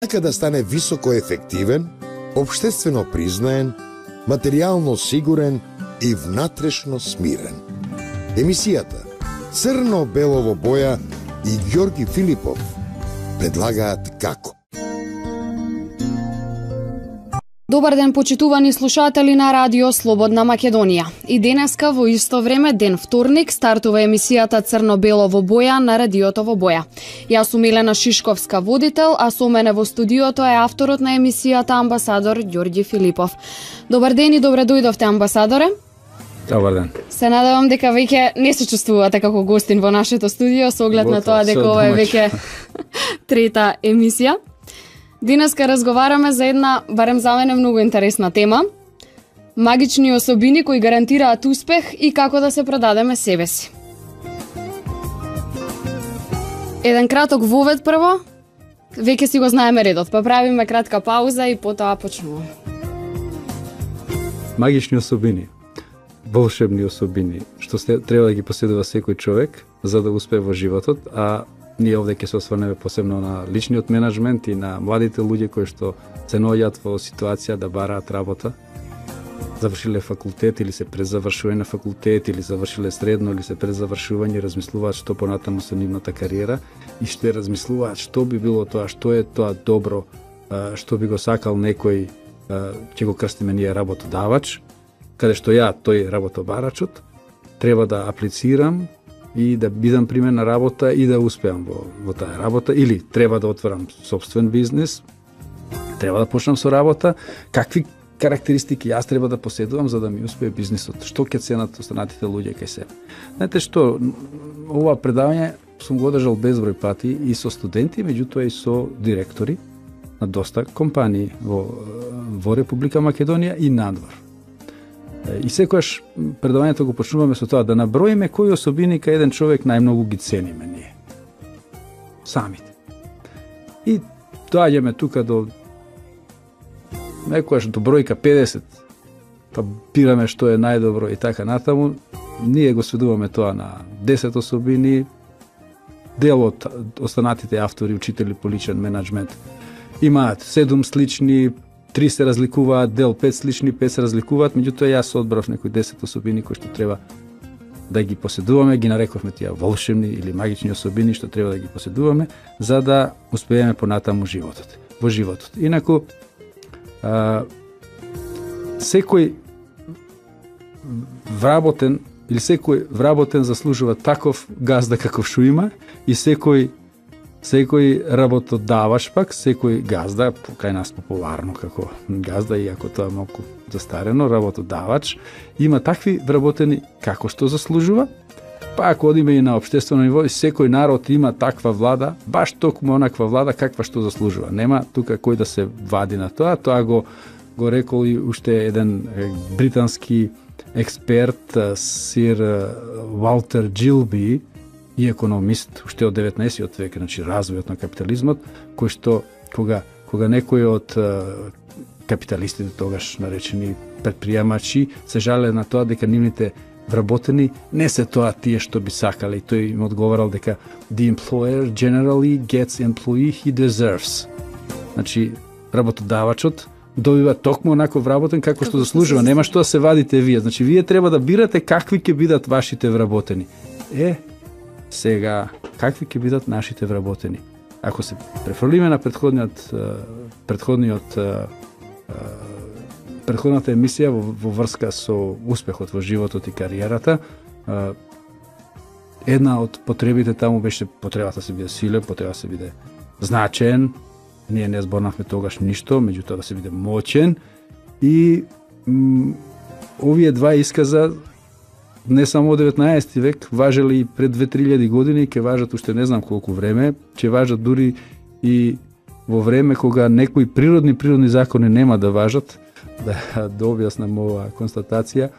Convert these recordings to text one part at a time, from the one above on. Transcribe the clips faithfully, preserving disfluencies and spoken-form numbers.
Така да стане високо ефективен, општествено признаен, материјално сигурен и внатрешно смирен. Емисијата Црно-бело во боја и Ѓорги Филипов предлагаат како. Добар ден, почитувани слушатели на Радио Слободна Македонија. И денеска во исто време, ден вторник, стартува емисијата Црно-бело во боја на Радиото во боја. Јас сум Елена Шишковска, водител, а со мене во студиото е авторот на емисијата, амбасадор Ѓорги Филипов. Добар ден и добре дојдовте, амбасадоре. Добар ден. Се надевам дека веќе не се чувствувате како гостин во нашето студио, со оглед на тоа дека ова е веќе трета емисија. Денеска разговараме за една, барем за мене, многу интересна тема. Магични особини кои гарантираат успех и како да се продадеме себе си. Еден краток вовед прво. Веќе си го знаеме редот, па правиме кратка пауза и потоа почнуваме. Магични особини, волшебни особини, што треба да ги поседува секој човек за да успее во животот, а ние овде ќе се осврнеме посебно на личниот менеджмент и на младите луѓе кои што се наоѓаат во ситуација да бараат работа, завршиле факултет или се пред завршување на факултет или завршиле средно или се пред завршување, размислуваат што понатаму со нивната кариера и што размислуваат што би било тоа, што е тоа добро, што би го сакал некој, ќе го крстиме ние работодавач, каде што ја, тој работобарачот, треба да аплицирам и да бидам примен на работа и да успеам во, во таа работа, или треба да отворам собствен бизнес, треба да почнам со работа, какви карактеристики јас треба да поседувам за да ми успее бизнисот, што ќе ценат останатите луѓе кај себе. Знаете што, ова предавање сум го одржал безброј пати и со студенти, меѓутоа и со директори на доста компании во, во Република Македонија и надвор. И секогаш предавањето го почнуваме со тоа да наброиме кои особини кај еден човек најмногу ги цениме ние. Самите. И доаѓаме тука до некојаш до бројка педесет, па бираме што е најдобро и така натаму. Ние го сведуваме тоа на десет особини. Дел од останатите автори, учители по личен менеджмент имаат седум слични, три се разликуваат, дел пет слични, пет се разликуваат, меѓутоа јас одбрав некои десет особини кои што треба да ги поседуваме, ги нарековме тие волшебни или магични особини што треба да ги поседуваме за да успееме понатаму животот, во животот. Инаку а, секој вработен или секој вработен заслужува таков газда каков што има и секој Секој работодавач пак, секој газда, кај нас популарно како газда, иако тоа малку застарено, работодавач, има такви вработени како што заслужува, па ако одиме и на општествено ниво, секој народ има таква влада, баш токму онаква влада каква што заслужува. Нема тука кој да се вади на тоа, тоа го, го рекол и уште еден британски експерт, сир Валтер Джилби, и економист уште од деветнаесеттиот век, значи развојот на капитализмот, кој што кога кога некој од капиталистите тогаш наречени предприемачи се жале на тоа дека нивните вработени не се тоа тие што би сакале, и тој им одговарал дека the employer generally gets employee he deserves. Значи работодавачот добива токму онако вработен како што заслужува, нема што да се вадите вие. Значи вие треба да бирате какви ќе бидат вашите вработени. Е, сега, какви ќе бидат нашите вработени? Ако се префрлиме на предходниот предходниот предходната емисија во, во врска со успехот во животот и кариерата, една од потребите таму беше потребата да се биде силен, потреба да се биде значен. Ние не зборнавме тогаш ништо, меѓутоа да се биде моćен, и м, овие два исказа не само од деветнаесети век, важели и пред две-три илјади години, ќе важат уште не знам колку време, ќе важат дури и во време кога некои природни природни закони нема да важат, да, да објаснам оваа констатација.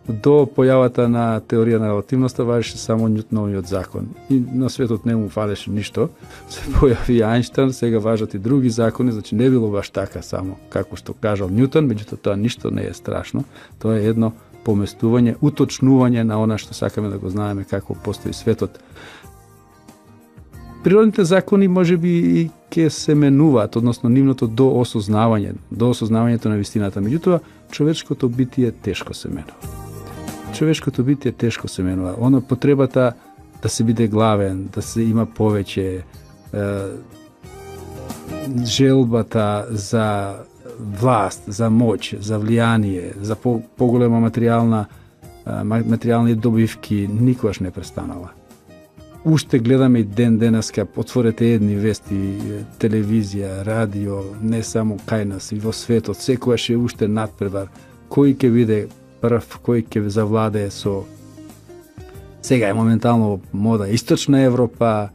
До појавата на теорија на релативноста важеше само Њутоновиот закон. И на светот не му фалеше ништо. Се појави Ајнштајн, сега важат и други закони, значи не било баш така само како што кажал Њутон, меѓутоа тоа ништо не е страшно. Тоа е едно поместување, уточнување на она што сакаме да го знаеме како постои светот. природните закони можеби и ќе се менуваат, односно нивното до осознавање, до осознавањето на вистината. Меѓутоа, човечкото битие тешко се менува. Човечкото битие тешко се менува. Оно потребата да се биде главен, да се има повеќе, е, желбата за власт, за моќ, за влијание, за по, поголема материјална материјални добивки никогаш не престанала. Уште гледаме и ден денеска, отворете едни вести, телевизија, радио, не само кај нас, и во светот, секојаш е уште надпревар. Кој ќе биде прв, кој ќе завладее со... Сега е моментално мода Источна Европа,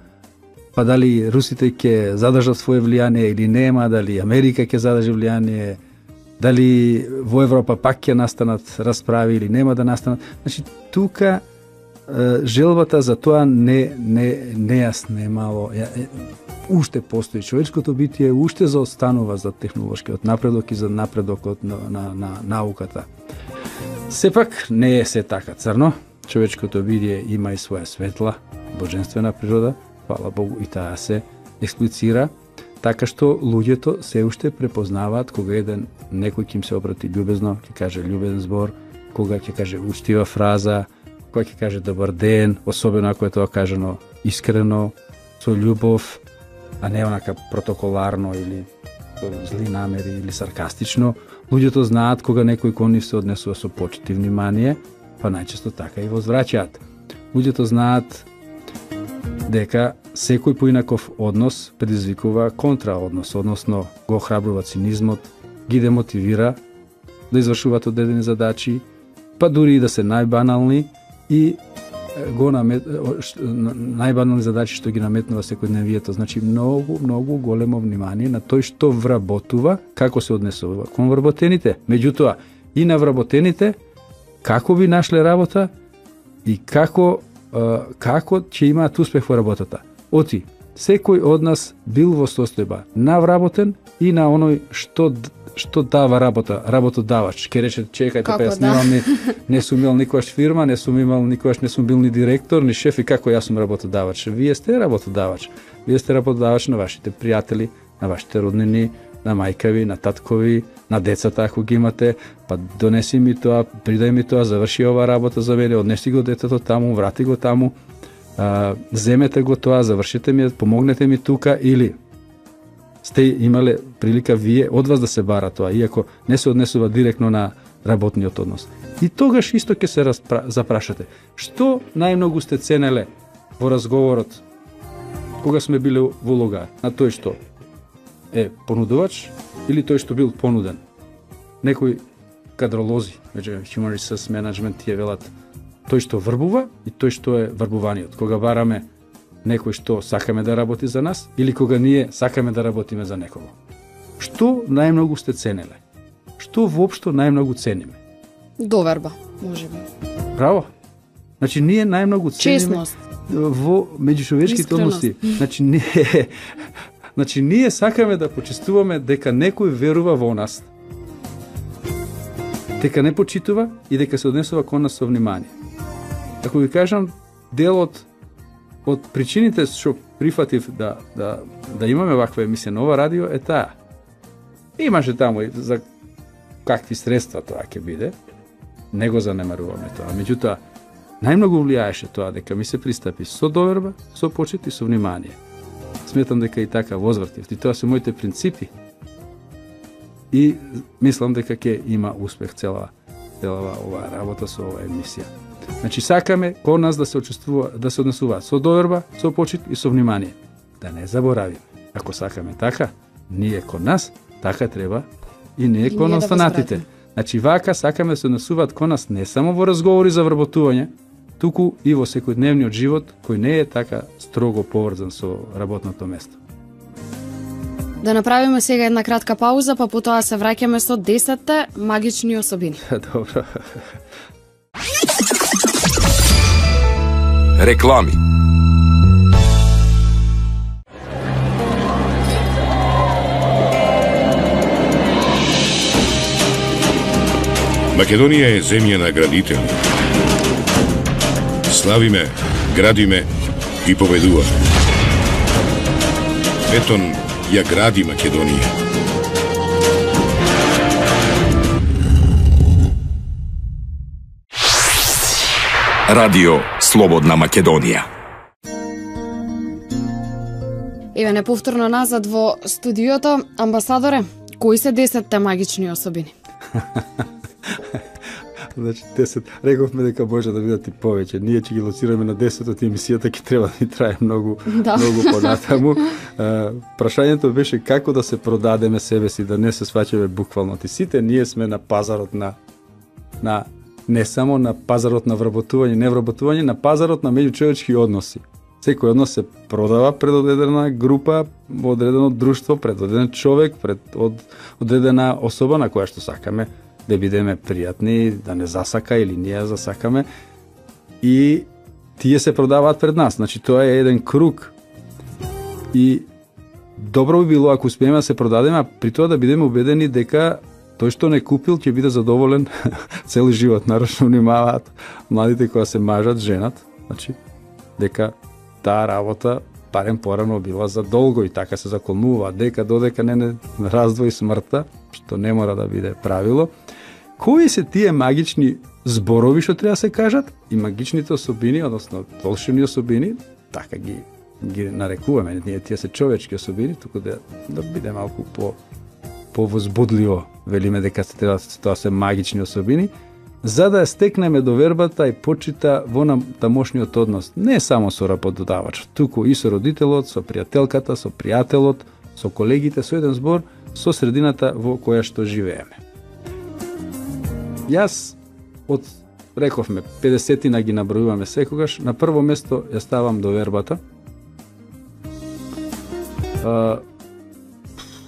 па дали русите ќе задржат своje влијание или нема, дали Америка ќе задржи влијание, дали во Европа пак ќе настанат расправи или нема да настанат. Значи, тука желбата за тоа не не нејасно е мало. Уште постои човечкото битие, уште заостанува за технолошкиот напредок и за напредокот на, на, на науката. Сепак не е се така црно. Човечкото битие има и своја светла, божествена природа, фала Богу, и таа се експлицира, така што луѓето се уште препознаваат кога еден некој ќе им се обрати љубезно, ќе каже љубезен збор, кога ќе каже учтива фраза, кога ќе каже добар ден, особено ако е тоа кажано искрено, со љубов, а не онака протоколарно или со зли намери или саркастично. Луѓето знаат кога некој кон нив се однесува со почит и внимание, па најчесто така и возвраќаат. Луѓето знаат дека секој поинаков однос предизвикува контраоднос, односно го охрабрува цинизмот, ги демотивира да извршуваат одредени задачи, па дури и да се најбанални и го намет... најбанални задачи што ги наметнува секојдневието. Значи многу, многу големо внимание на тој што вработува, како се однесува кон вработените. Меѓутоа, и на вработените, како би нашле работа и како како ќе имаат успех во работата. Оти, секој од нас бил во состојба на вработен и на оној што што дава работа, работодавач. Ке рече, чекајте, па јас немам ни, не сум имал никогаш фирма, не сум имал никогаш не сум бил ни директор, ни шеф, и како јас сум работодавач. Вие сте работодавач. Вие сте работодавач на вашите пријатели, на вашите роднини, на мајкави, на таткови, на децата ако ги имате, па донеси ми тоа, придај ми тоа, заврши ова работа за мене, однеси го детето таму, врати го таму, а, земете го тоа, завршете ми, помогнете ми тука, или сте имале прилика вие од вас да се бара тоа, иако не се однесува директно на работниот однос. И тогаш исто ќе се распра... запрашате, што најмногу сте ценеле во разговорот кога сме биле во улога на тој што е понудувач или тој што бил понуден. Некои кадролози, меѓу Human Resource Management, тие велат тој што врбува и тој што е врбуваниот. Кога бараме некој што сакаме да работи за нас или кога ние сакаме да работиме за некого. Што најмногу сте ценеле? Што воопшто најмногу цениме? Доверба, можеби. Браво. Значи ние најмногу цениме честност во меѓучовечките односи. Значи ние Значи, ние сакаме да почестуваме дека некој верува во нас, дека не почитува и дека се однесува кон нас со внимание. Ако ви кажам, делот од причините што прифатив да, да, да имаме ваква емисија на ова радио е таа. Имаше таму и за какви средства тоа ќе биде, не го занемаруваме тоа. Меѓутоа, најмногу влијаеше тоа дека ми се пристапи со доверба, со почит и со внимание. Сметам дека и така возвртив. И тоа се моите принципи. И мислам дека ќе има успех цела, цела оваа работа со оваа емисија. Значи сакаме кон нас да се учествува, да се однесува со доверба, со почит и со внимание. Да не заборавиме. Ако сакаме така, ние кон нас, така треба и ние и кон ние останатите. Да значи вака сакаме да се однесуваат кон нас не само во разговори за вработување, туку и во секојдневниот живот, кој не е така строго поврзан со работното место. Да направиме сега една кратка пауза, па потоа се враќаме со десетте магични особини. Добро. Реклами. Македонија е земја на градители. Славиме, градиме и победуваме. Бетон ја гради Македонија. Радио Слободна Македонија. Еве не повторно назад во студиото. Амбасадоре, кои се десетте магични особини? Значи десет, рековме дека може да бидат и повеќе. Ние ќе ги лоцираме на десет, од емисијата ќе треба да ни трае многу, да. многу понатаму. Прашањето беше како да се продадеме себе си, да не се сваќаме буквално. Ти сите ние сме на пазарот на на не само на пазарот на вработување, не вработување, на пазарот на меѓучовечки односи. Секој однос се продава пред одредена група, одредено друштво, пред одреден човек, пред од, одредена особа на која што сакаме да бидеме пријатни, да не засака или ние засакаме. И тие се продаваат пред нас. Значи тоа е еден круг. И добро би било ако успееме да се продадеме, а при тоа да бидеме убедени дека тој што не купил ќе биде задоволен цели живот. Нарочно внимаваат младите кога се мажат, женат, значи дека таа работа барем порано била за долго и така се заколнува, дека додека не не раздвои смртта, што не мора да биде правило. Кои се тие магични зборови што треба да се кажат и магичните особини, односно волшебни особини, така ги ги нарекуваме, ние тие се човечки особини, туку да да биде малку по повозбудливо, велиме дека се треба тоа се магични особини, за да стекнеме довербата и почита во нам тамошниот однос, не само со работодавачот, туку и со родителот, со пријателката, со пријателот, со колегите, со еден збор, со средината во која што живееме. Јас од рековме педесетина ги набројуваме секогаш, на прво место ја ставам довербата. А,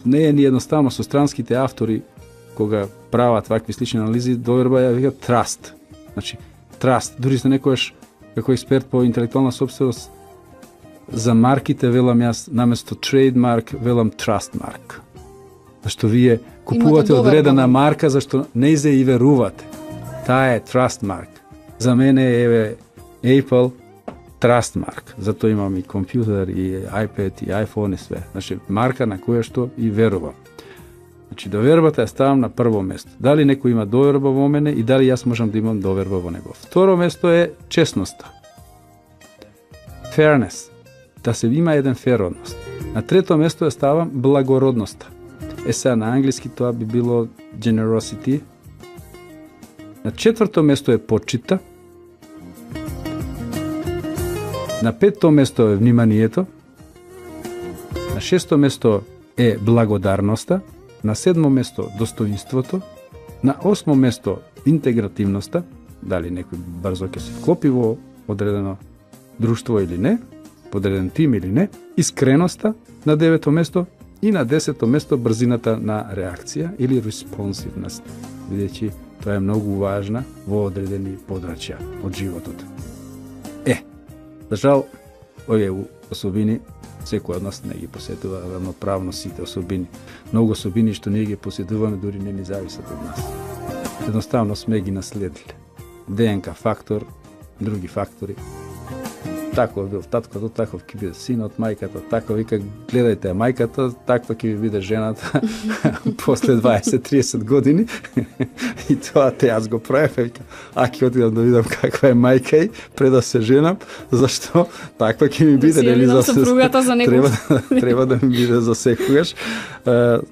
не е ни едноставно со странските автори кога прават вакви слични анализи, доверба ја вика траст. Значи, траст. Дури се некојаш како експерт по интелектуална собственост за марките велам јас наместо трейдмарк велам трастмарк. Зашто вие купувате одредена марка зашто не се и верувате. Таа е трастмарк. За мене е Apple трастмарк. Затоа имам и компјутер, и iPad, и iPhone и све. Значи, марка на која што и верувам. Значи, довербата ја ставам на прво место. Дали некој има доверба во мене и дали јас можам да имам доверба во него. Второ место е честноста. Fairness. Да се има еден фер однос. На трето место ја ставам благородноста. Е сега на англиски тоа би било generosity. На четврто место е почита. На петто место е вниманието. На шесто место е благодарноста. На седмо место достоинството. На осмо место интегративноста. Дали некој брзо ќе се вклопи во одредено друштво или не, подреден тим или не. Искреноста на девето место. И на десето место брзината на реакција или респонсивност, бидејќи тоа е многу важна во одредени подрачја од животот. Е, за жал, овие особини секој од нас не ги посетува равноправно сите особини. Многу особини што ние ги посетуваме дури не ни зависат од нас. Едноставно сме ги наследиле. ДНК фактор, други фактори. Таков бил таткото, таков ќе биде синот, мајката, така вика, гледајте мајката, таква ќе ви биде жената после дваесет до триесет години. И тоа те јас го правев, вика, а ќе отидам да видам каква е мајка и пред да се женам, зашто таква ќе ми биде, нели за сопругата за некој. Треба, треба да ми биде за секогаш.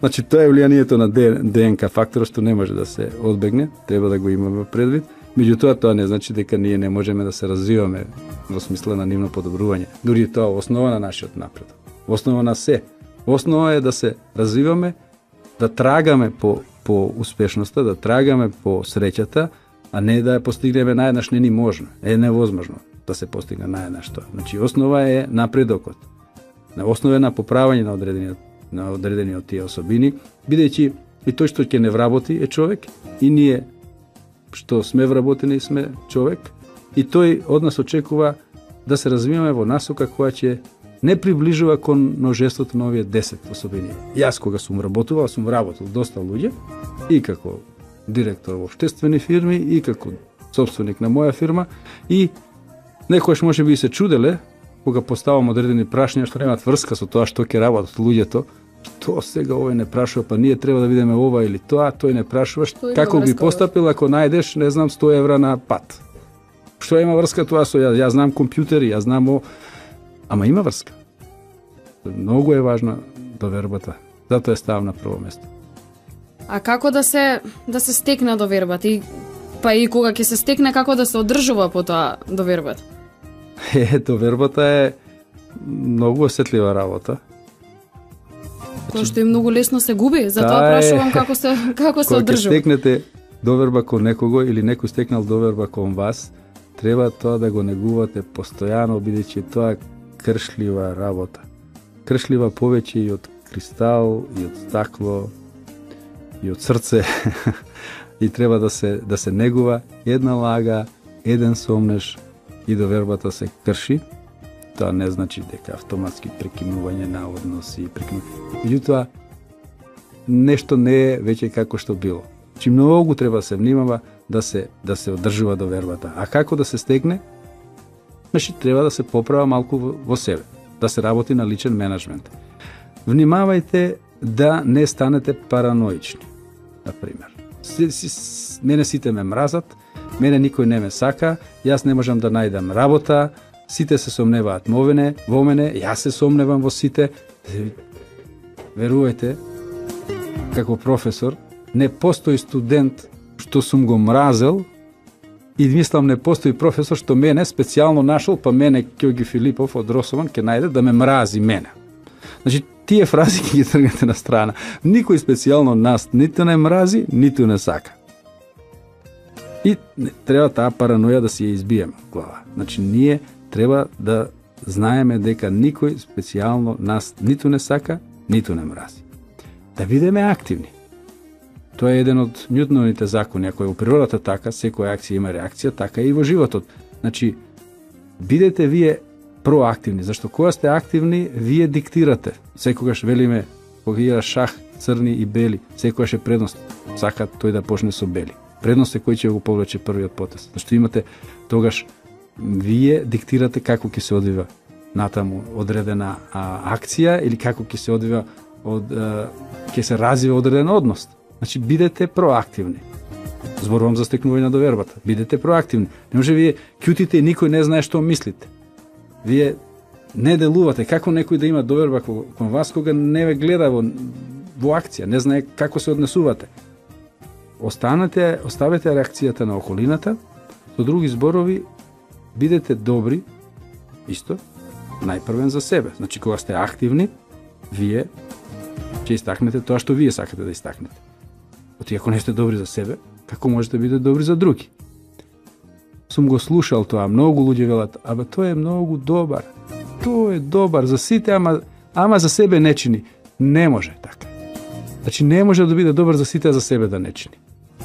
Значи тоа е влијанието на ДНК факторот што не може да се одбегне, треба да го имаме предвид. Меѓутоа, тоа не значи дека ние не можеме да се развиваме во смисла на нивно подобрување. Дури тоа е основа на нашиот напредок. Основа на се. Основа е да се развиваме, да трагаме по, по успешноста, да трагаме по среќата, а не да ја постигнеме наеднаш, не ни можно. Е невозможно да се постигне наеднаш тоа. Значи, основа е напредокот. На основа на поправање на одредени, на одредени од тие особини, бидејќи и тој што ќе не вработи е човек, и ние што сме вработени сме човек, и тој од нас очекува да се развиваме во насока која ќе не приближува кон множеството на овие десет особини. Јас кога сум работувал, сум работил доста луѓе, и како директор во општествени фирми, и како собственик на моја фирма, и некојаш може би се чуделе кога поставам одредени прашања што немаат врска со тоа што ќе работат луѓето, што сега овој не прашува, па ние треба да видиме ова или тоа, тој не прашува, како би постапил ако најдеш, не знам, сто евра на пат. Што има врска тоа со ја, ја знам компјутери, ја знам о... Ама има врска. Многу е важна довербата. Затоа е ставам на прво место. А како да се да се стекне довербата и па и кога ќе се стекне, како да се одржува потоа довербата? Е, довербата е многу осетлива работа. Тоа што е многу лесно се губи, затоа прашувам како се како се одржува. Кога стекнете доверба кон некого или некој стекнал доверба кон вас, треба тоа да го негувате постојано, бидејќи тоа кршлива работа. Кршлива повеќе и од кристал, и од стакло, и од срце. И треба да се да се негува една лага, еден сомнеш и довербата се крши. Тоа не значи дека автоматски прекинување на односи, прекинување. Меѓутоа, нешто не е веќе како што било. Чи многу треба да се внимава да се да се одржува довербата. А како да се стегне? Значи треба да се поправа малку во, во себе, да се работи на личен менеджмент. Внимавајте да не станете параноични. Например, си, си, мене сите ме мразат, мене никој не ме сака, јас не можам да најдам работа, сите се сомневаат во мене, во мене, јас се сомневам во сите. Верувајте, како професор, не постои студент што сум го мразел и мислам не постои професор што мене специјално нашол, па мене Ѓорги Филипов од Росован ќе најде да ме мрази мене. Значи, тие фрази ќе ги тргнете на страна. Никој специјално нас ниту не мрази, ниту не сака. И не, треба таа параноја да си ја избиеме од глава. Значи, ние треба да знаеме дека никој специјално нас ниту не сака, ниту не мрази. Да бидеме активни. Тоа е еден од Њутоновите закони. Ако е во природата така, секоја акција има реакција, така и во животот. Значи, бидете вие проактивни, зашто кога сте активни, вие диктирате. Секогаш велиме, кога игра шах, црни и бели, секогаш е предност. Сака тој да почне со бели. Предност е кој ќе го повлече првиот потез. Зашто имате тогаш вие диктирате како ќе се одвива натаму одредена а, акција или како ќе се одвива од а, ќе се развива одреден однос. Значи бидете проактивни. Зборувам за стекнување на довербата. Бидете проактивни. Не може вие ќутите и никој не знае што мислите. Вие не делувате. Како некој да има доверба кон вас кога не ве гледа во, во акција, не знае како се однесувате. Останете, оставете реакцијата на околината, со други зборови, бидете добри, исто, најпрвен за себе. Значи, кога сте активни, вие ќе истакнете тоа што вие сакате да истакнете. Оти ако не сте добри за себе, како можете да бидете добри за други? Сум го слушал тоа, многу луѓе велат, абе тој е многу добар. Тој е добар за сите, ама ама за себе не чини. Не може така. Значи не може да биде добар за сите, а за себе да не чини.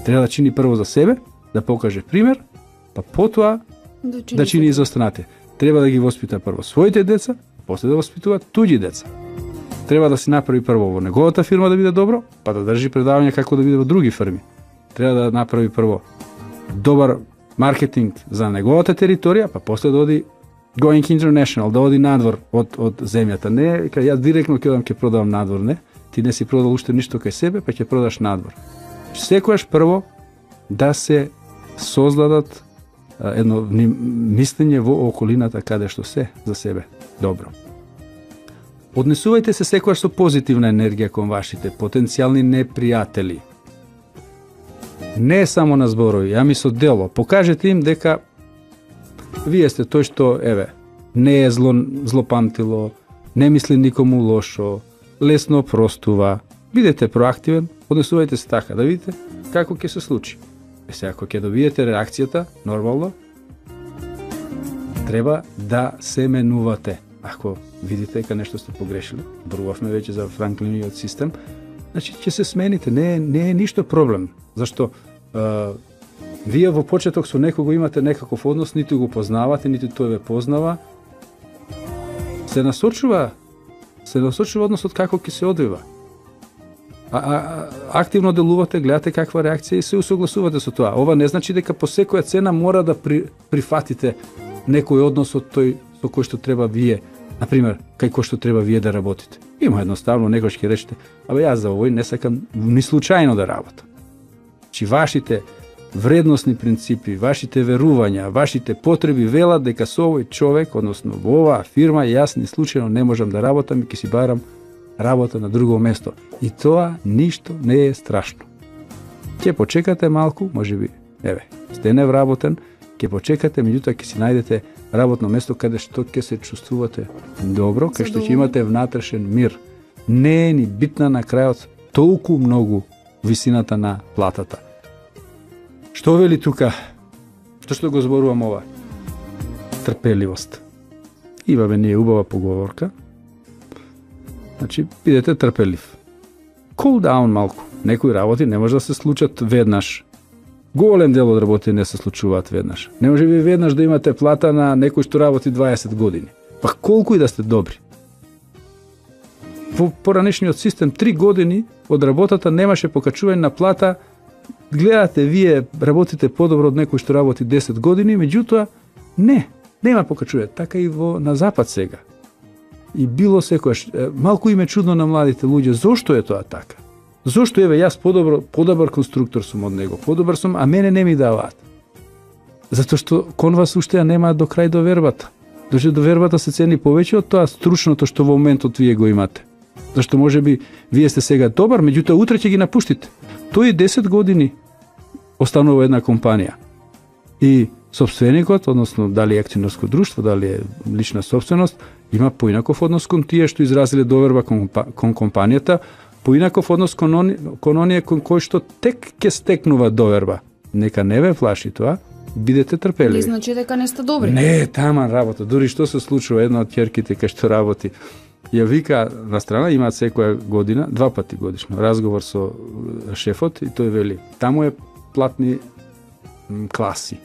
Треба да чини прво за себе, да покаже пример, па потоа да чини, да чини и за останатите. Треба да ги воспита прво своите деца, после да воспитува туѓи деца. Треба да си направи прво во неговата фирма да биде добро, па да држи предавања како да биде во други фирми. Треба да направи прво добар маркетинг за неговата територија, па после да оди going international, да оди надвор од од земјата. Не, кај јас директно ќе одам ќе продавам надвор, не. Ти не си продал уште ништо кај себе, па ќе продаш надвор. Секогаш прво да се создадат едно мислење во околината каде што се за себе добро. Однесувајте се секогаш со позитивна енергија кон вашите потенцијални непријатели. Не само на зборови, ами со дело. Покажете им дека вие сте тој што, еве, не е зло, злопамтило, не мисли никому лошо, лесно простува. Бидете проактивен, однесувајте се така, да видите како ќе се случи. Е сега, ако ќе добиете реакцијата, нормално, треба да се менувате. Ако видите дека нешто сте погрешили, зборувавме веќе за Франклиниот систем, значи ќе се смените, не е, не е ништо проблем. Зашто е, вие во почеток со некого имате некаков однос, ниту го познавате, ниту тој ве познава. Се насочува, се насочува односот како ќе се одвива. А, а, активно делувате, гледате каква реакција и се усогласувате со тоа. Ова не значи дека по секоја цена мора да при, прифатите некој однос од тој со кој што треба вие, на пример, кај кој што треба вие да работите. Има едноставно некој ќе речете, абе јас за овој не сакам ни случајно да работам. Чи вашите вредносни принципи, вашите верувања, вашите потреби велат дека со овој човек, односно во оваа фирма, јас ни случајно не можам да работам и ќе си барам работа на друго место. И тоа ништо не е страшно. Ќе почекате малку, можеби, еве, сте невработен, ќе почекате, меѓутоа ќе си најдете работно место каде што ќе се чувствувате добро, кај што ќе имате внатрешен мир. Не е ни битна на крајот толку многу висината на платата. Што вели тука? Што што го зборувам ова? Трпеливост. Имаме ние убава поговорка. Значи, бидете трпелив. Cool down малку. Некои работи не може да се случат веднаш. Голем дел од работи не се случуваат веднаш. Не може ви веднаш да имате плата на некој што работи дваесет години. Па колку и да сте добри. Во поранешниот систем три години од работата немаше покачување на плата. Гледате, вие работите подобро од некој што работи десет години, меѓутоа не, нема покачување. Така и во на запад сега. И било секојаш, малку им е чудно на младите луѓе, зошто е тоа така? Зошто еве јас подобро, подобар конструктор сум од него, подобар сум, а мене не ми даваат? Затоа што кон вас уште ја немаат до крај довербата. Дожи довербата се цени повеќе од тоа стручното што во моментот вие го имате. Зашто можеби вие сте сега добар, меѓутоа утре ќе ги напуштите. Тој десет години останува една компанија. И собственикот, односно дали е акционерско друштво, дали е лична собственост, има поинаков однос кон тие што изразиле доверба кон, кон компанијата, поинаков однос кон, они, кон оние кон кој што тек ќе стекнува доверба. Нека не ве плаши тоа, бидете трпеливи. Не значи дека не сте добри. Не, таман работа. Дури што се случува, една од ќерките кај што работи, ја вика на страна, имаат секоја година, два пати годишно, разговор со шефот и тој вели, таму е платни класи.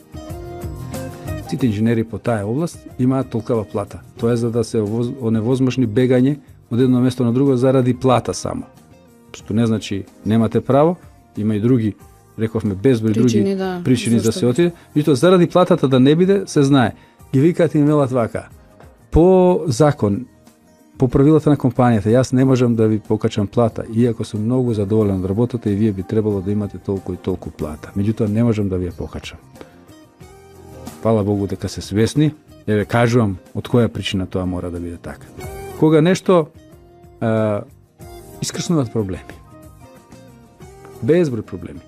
Сите инженери по таа област имаат толкава плата. Тоа е за да се оневозможни бегање од едно место на друго заради плата само. Што не значи немате право, има и други, рековме безброј други да, причини да се отиде, и тоа заради платата да не биде, се знае. Ги викаат и велат вака. По закон, по правилата на компанијата, јас не можам да ви покачам плата, иако сум многу задоволен од работата и вие би требало да имате толку и толку плата. Меѓутоа не можам да ви ја покачам. Фала Богу дека се свесни, еве кажувам од која причина тоа мора да биде така. Кога нешто е, искрснуваат проблеми. Безброј проблеми.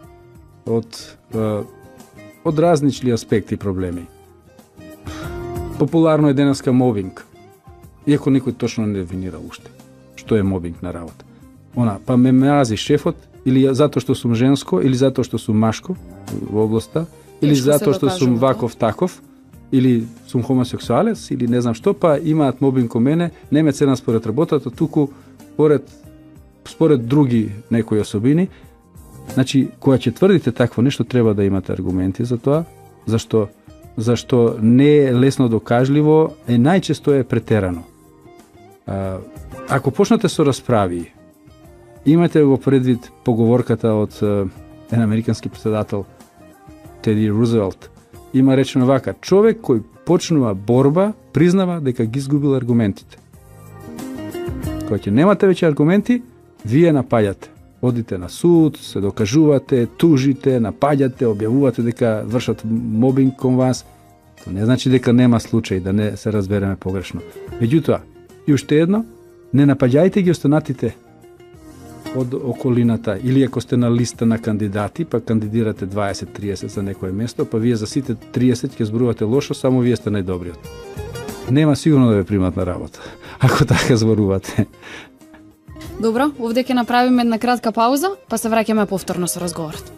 Од е, од разнични аспекти проблеми. Популарно е денеска мобинг. Иако никој точно не дефинира уште што е мобинг на работа. Она, па ме мрази шефот, или затоа што сум женско, или затоа што сум машко во областа, или Тешко затоа што да сум ваков таков, или сум хомосексуалец, или не знам што, па имаат мобинг кон мене, не ме цена според работата, туку според според други некои особини. Значи, кога ќе тврдите такво нешто, треба да имате аргументи за тоа, зашто зашто не е лесно докажливо, е најчесто е претерано. А, ако почнете со расправи, имате го предвид поговорката од еден американски претседател Теди Рузвелт, има речено вака: човек кој почнува борба, признава дека ги изгубил аргументите. Кога ќе немате веќе аргументи, вие напаѓате. Одите на суд, се докажувате, тужите, напаѓате, објавувате дека вршат мобинг кон вас. Тоа не значи дека нема случај, да не се разбереме погрешно. Меѓутоа, и уште едно, не напаѓајте ги останатите од околината, или ако сте на листа на кандидати, па кандидирате дваесет триесет за некое место, па вие за сите триесет ќе зборувате лошо, само вие сте најдобриот. Нема сигурно да ве примат на работа, ако така зборувате. Добро, овде ќе направиме една кратка пауза, па се враќаме повторно со разговорот.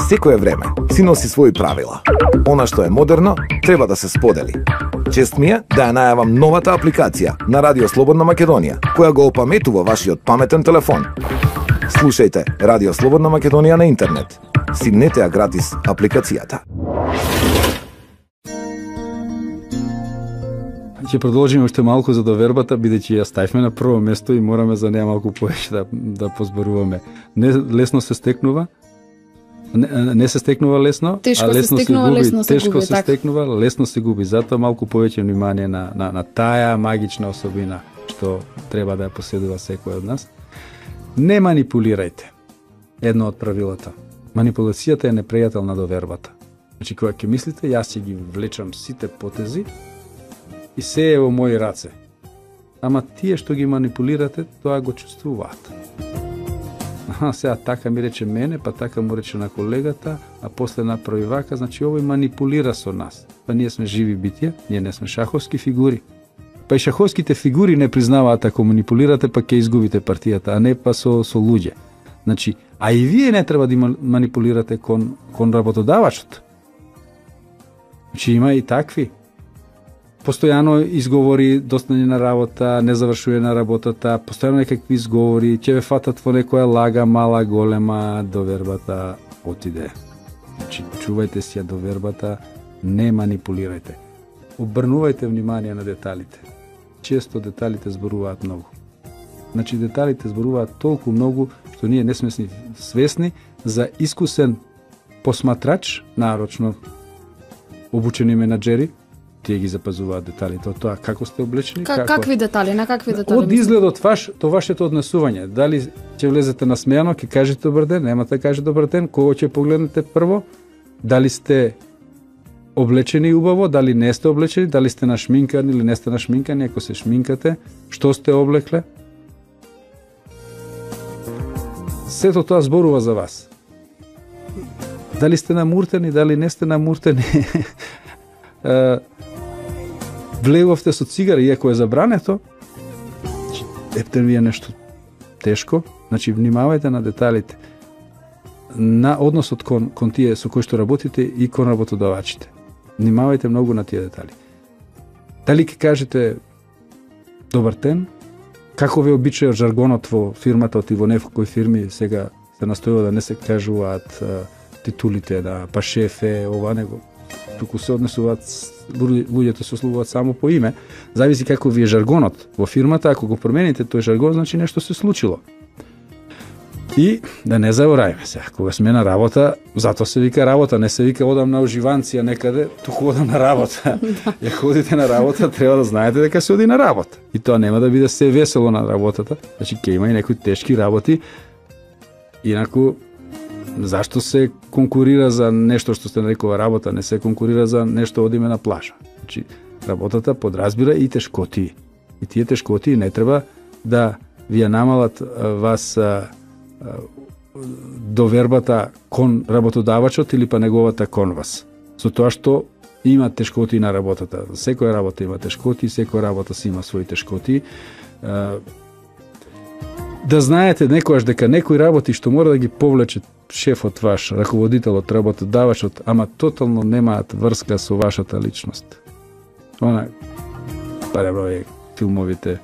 Секое време си носи своји правила. Она што е модерно, треба да се сподели. Чест ми е да ја најавам новата апликација на Радио Слободна Македонија, која го опаметува вашиот паметен телефон. Слушајте Радио Слободна Македонија на интернет. Симнете ја гратис апликацијата. Ќе продолжиме уште малку за довербата, бидејќи ја ставивме на прво место и мораме за неа малку повеќе да, да позборуваме. Не лесно се стекнува, Не, не се стекнува лесно, тешко а лесно се стекнува, се губи, лесно се тешко губи, се така. стекнува, лесно се губи. Затоа малку повеќе внимание на, на, на таа магична особина што треба да ја поседува секој од нас. Не манипулирајте. Едно од правилата. Манипулацијата е непријател на довербата. Значи, кога ќе мислите, јас ќе ги влечам сите потези и се е во мои раце. Ама тие што ги манипулирате, тоа го чувствуваат. Аха, сега така ми рече мене, па така му рече на колегата, а после направи вака, значи овој манипулира со нас. Па ние сме живи битија, ние не сме шаховски фигури. Па и шаховските фигури не признаваат ако манипулирате, па ќе изгубите партијата, а не па со, со луѓе. Значи, а и вие не треба да манипулирате кон, кон работодавачот. Значи има и такви. Постојано изговори достање на работа, не завршува на работата, постојано некакви изговори, ќе ве фатат во некоја лага, мала, голема, довербата отиде. Значи, чувајте си ја довербата, не манипулирајте. Обрнувајте внимание на деталите. Често деталите зборуваат многу. Значи, деталите зборуваат толку многу што ние не сме свесни за искусен посматрач, нарочно обучени менаџери, тие ги запазуваат деталите од тоа како сте облечени, Как, како... какви детали, на какви детали? Од изгледот ваш, то вашето однесување. Дали ќе влезете насмејано, ќе кажете добар ден, нема да каже добар ден, кого ќе погледнете прво? Дали сте облечени убаво, дали не сте облечени, дали сте нашминкани или не сте нашминкани, ако се шминкате, што сте облекле? Сето тоа зборува за вас. Дали сте намуртени, дали не сте намуртени? Влеговте со цигара, иако е забрането, епте ви е нешто тешко, значи внимавајте на деталите, на односот кон, кон тие со кои што работите и кон работодавачите. Внимавајте многу на тие детали. Дали ќе кажете добар ден, како ве обичаја жаргонот во фирмата, и во некои фирми сега се настојува да не се кажуваат титулите, да па шефе, ова него. Туку се однесуваат, луѓето се ослувуваат само по име, зависи како ви е жаргонот во фирмата, ако го промените тој жаргон, значи нешто се случило. И да не забораваме се, кога сме на работа, затоа се вика работа, не се вика одам на уживанција некаде, туку одам на работа. Ја ходите на работа, треба да знаете дека се оди на работа. И тоа нема да биде се весело на работата, значи ќе има и некои тешки работи. Инаку, зашто се конкурира за нешто што се нарекува работа, не се конкурира за нешто одиме на плажа. Значи, работата подразбира и тешкоти. И тие тешкоти не треба да ви ја намалат вас а, а, довербата кон работодавачот или па неговата кон вас. Со тоа што има тешкоти на работата. Секоја работа има тешкоти, секоја работа си има своји тешкоти. А, да знаете некојаш дека некои работи што мора да ги повлече шефот ваш, раководителот, работодавачот, ама тотално немаат врска со вашата личност. Она, паребро е филмовите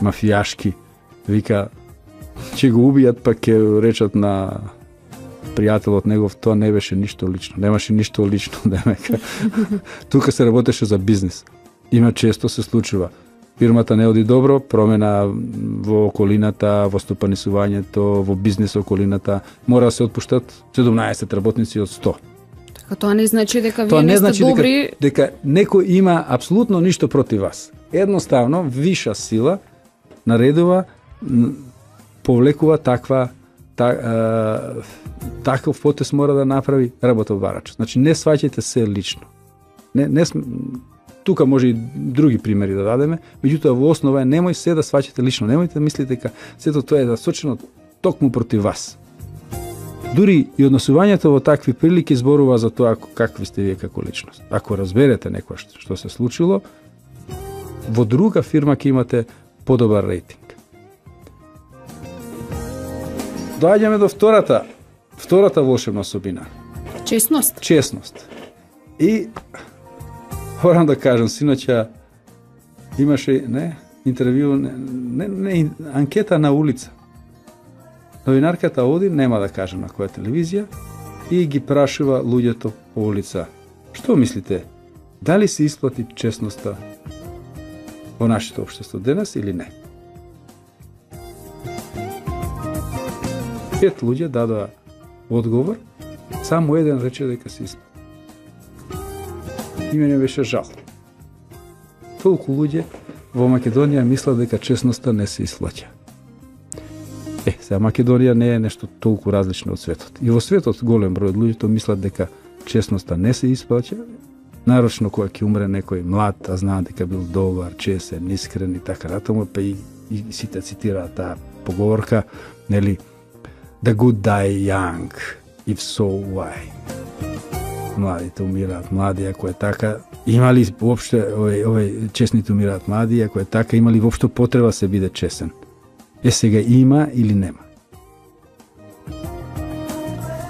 мафијашки, вика, ќе го убијат, па ќе речат на пријателот негов, тоа не беше ништо лично, немаше ништо лично, демека. Тука се работеше за бизнис. Има често се случува. Фирмата не оди добро, промена во околината, во стопанисувањето, во бизнес околината, мора да се отпуштат седумнаесет работници од сто. Така тоа не значи дека Тоа вие не не сте значи добри. дека, дека некој има апсолутно ништо против вас. Едноставно, виша сила наредува, повлекува таква та, а, таков потез мора да направи работодавачот. Значи не сваќајте се лично. Не не тука може и други примери да дадеме, меѓутоа во основа е немој се да сваќате лично, немојте да мислите дека сето тоа е насочено токму против вас. Дури и однесувањето во такви прилики зборува за тоа какви сте вие како личност. Ако разберете некој што се случило, во друга фирма ќе имате подобар рейтинг. Доаѓаме до втората, втората волшебна особина. Честност. Честност. И морам да кажам, синоќа имаше не интервју, не, не, не анкета на улица. Новинарката оди, нема да кажам на која телевизија, и ги прашува луѓето по улица. Што мислите? Дали се исплати честноста во нашето општество денес или не? Пет луѓе дадоа одговор Само еден рече дека се исплати. И мене беше жал. Толку луѓе во Македонија мислат дека честноста не се исплаќа. Е, сега Македонија не е нешто толку различно од светот. И во светот голем број од луѓето мислат дека честноста не се исплаќа, нарочно кога ќе умре некој млад, а знаат дека бил добар, честен, искрен и така натаму, па и, и сите цитираат таа поговорка, нели, the good die young, if so why. Младите умираат млади, ако е така, има ли воопшто овој овој честните умираат млади, ако е така, има ли воопшто потреба се биде честен? Е, сега има или нема?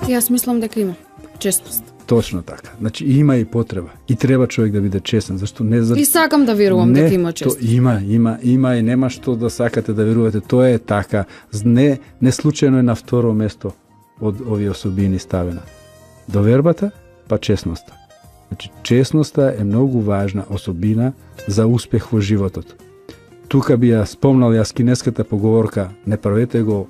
Јас мислам дека има честност. Точно така. Значи има и потреба. И треба човек да биде честен, зашто не за... И сакам да верувам не, дека има честност. То има, има, има и нема што да сакате да верувате. Тоа е така. Не, не случајно е на второ место од овие особини ставена. Довербата, па честноста. Значи, честноста е многу важна особина за успех во животот. Тука би ја спомнал јас кинеската поговорка: не правете го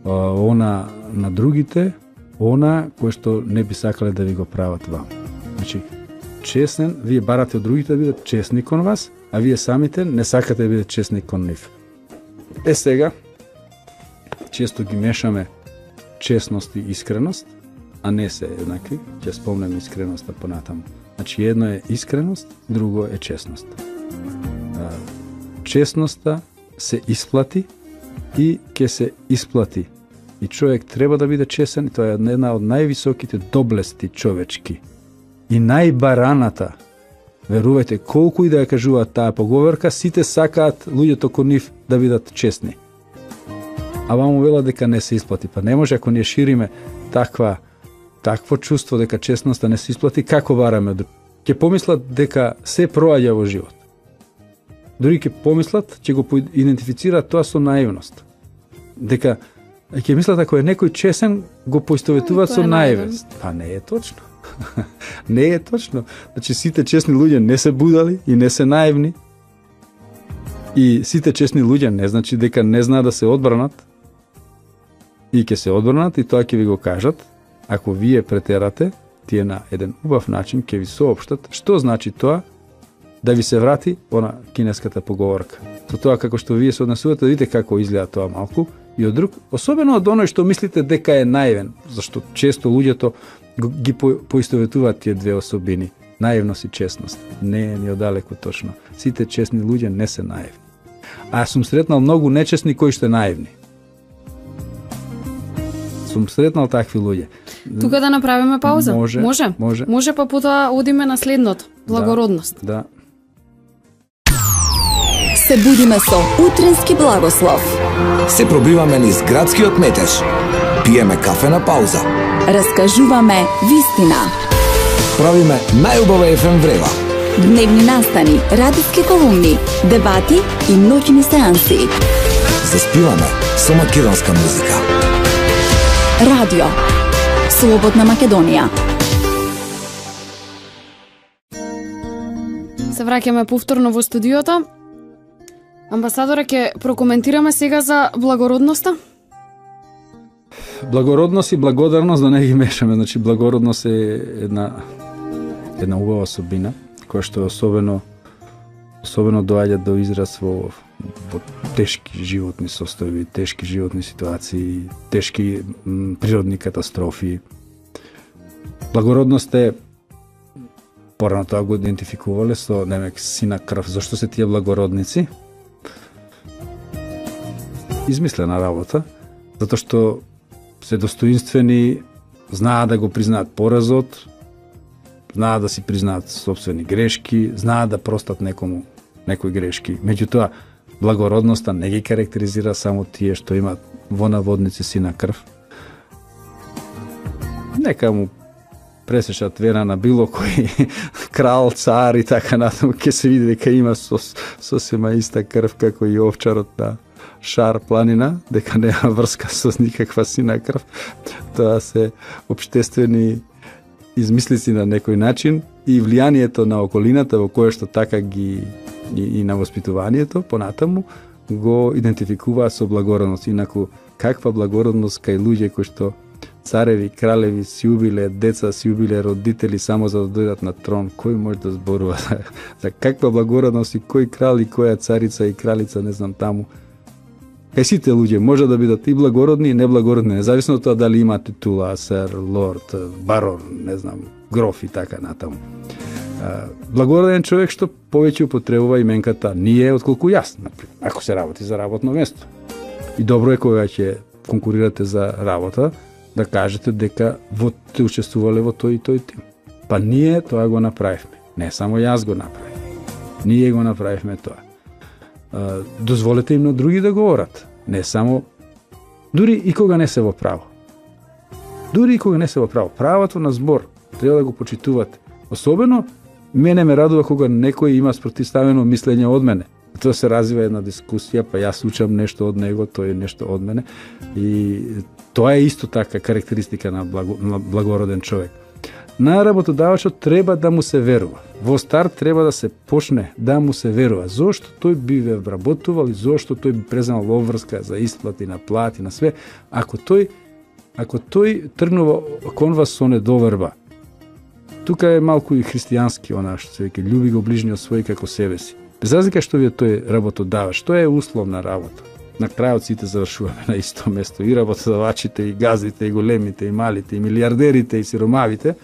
а, она на другите, она кој што не би сакале да ви го прават вам. Значи, честен, вие барате од другите да бидат честни кон вас, а вие самите не сакате да бидат честни кон нив. Е сега, често ги мешаме честност и искреност, а не се еднакви. Ќе спомнем искреноста понатаму. Значи, едно е искреност, друго е честност. Честноста се исплати и ќе се исплати. И човек треба да биде честен, и тоа е една од највисоките доблести човечки. И најбараната, верувајте, колку и да ја кажуваат таа поговорка, сите сакаат луѓето кон нив да бидат честни. А вам вела дека не се исплати. Па не може, ако ние шириме таква такво чувство дека честноста не се исплати, како бараме од... Ќе помислат дека се проаѓа во живот. Дури ќе помислат, ќе го идентифицираат тоа со наивност. Дека ќе мислат ако е некој честен, го поистоветуваат со наивност. Па не е точно. Не е точно. Значи сите честни луѓе не се будали и не се наивни. И сите честни луѓе не значи дека не знаат да се одбранат. И ќе се одбранат и тоа ќе ви го кажат. Ако вие претерате, тие на еден убав начин ќе ви соопштат што значи тоа да ви се врати она кинеската поговорка. Со тоа како што вие се однесувате, видите како изгледа тоа малку, и од друг, особено од оној што мислите дека е наивен, зашто често луѓето ги поистоветуваат тие две особини, наивност и честност. Не е ни одалеку точно. Сите честни луѓе не се наивни. А сум сретнал многу нечестни кои што наивни. Сум сретнал такви луѓе. Тука да направиме пауза? Може. Може, може. може па потоа одиме на следното. Благородност. Да. да. Се будиме со утрински благослов. Се пробиваме низ градскиот метеж. Пиеме кафе на пауза. Раскажуваме вистина. Правиме најубава еф ем врева. Дневни настани, радиски колумни, дебати и ноќни сеанси. Заспиваме со македонска музика. Радио Слободна Македонија. Се враќаме повторно во студиото. Амбасадоре, ќе прокоментираме сега за благородноста? Благородност и благодарност да не ги мешаме. Значи, благородност е една една убава особина, која што е особено особено доаѓа до израз во, во тешки животни состојби, тешки животни ситуации, тешки м, природни катастрофи. Благородност е, порано тоа го идентификувале со, немек, сина крв. Зошто се тие благородници? Измислена работа, затоа што се достоинствени, знаат да го признаат поразот, знаат да си признаат собствени грешки, знаат да простат некому некои грешки. Меѓутоа, благородноста не ги карактеризира само тие што имаат во наводници сина крв. Нека му пресечат вена на било кој крал, цар и така натаму, ќе се види дека има сос, сосема иста крв како и овчарот на Шар планина, дека нема врска со никаква сина крв. Тоа се општествени измислици на некој начин и влијанието на околината во кое што така ги и, и на воспитуванието понатаму го идентификуваат со благородност. Инаку каква благородност кај луѓе кои што цареви, кралеви си убиле, деца си убиле родители само за да дојдат на трон. Кој може да зборува за, за каква благородност и кој крал и која царица и кралица, не знам таму. Кај сите луѓе може да бидат и благородни и неблагородни, независно од тоа дали има титула, сер, лорд, барон, не знам, гроф и така натаму. Благороден човек што повеќе употребува именката ние отколку јас, например, ако се работи за работно место. И добро е кога ќе конкурирате за работа, да кажете дека во те учествувале во тој и тој тим. Па ние тоа го направивме. Не само јас го направив. Ние го направивме тоа. Дозволете им на други да говорат. Не само, дури и кога не се во право. Дури и кога не се во право. Правото на збор треба да го почитувате. Особено, мене ме радува кога некој има спротивставено мислење од мене. Тоа се развива една дискусија, па јас учам нешто од него, тој е нешто од мене. И тоа е исто така карактеристика на, благо, на благороден човек. На работодавачот треба да му се верува. Во старт треба да се почне да му се верува. Зошто тој би ве вработувал и зошто тој би преземал обврска за исплати на плати, на све. Ако тој, ако тој тргнува кон вас со недоверба, тука е малку и христијански она што се веќе љуби го ближниот свој како себе си. Без разлика што ви е тој работодавач, тоа е условна работа. На крајот сите завршуваме на исто место, и работодавачите, и газите, и големите, и малите, и милиардерите, и сиромавите.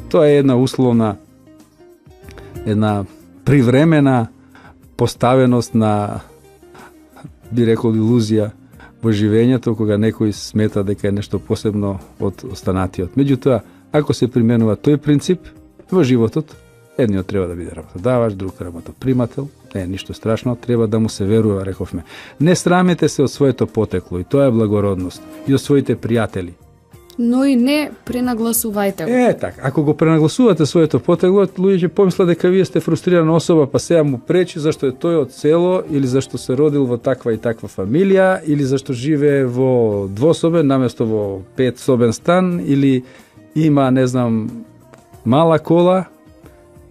Тоа е една условна, една привремена поставеност на, би рекол, илузија во живењето, кога некој смета дека е нешто посебно од останатиот. Меѓутоа, ако се применува тој принцип во животот, едниот треба да биде работодавач, друг работопримател, не е ништо страшно, треба да му се верува, рековме. Не срамете се од своето потекло, и тоа е благородност, и од своите пријатели. Но и не пренагласувајте го. Е, така, ако го пренагласувате своето потекло, луѓе ќе помислат дека вие сте фрустрирана особа, па сега му пречи зашто е тој од село, или зашто се родил во таква и таква фамилија, или зашто живее во двособен наместо во петсобен стан, или има, не знам, мала кола,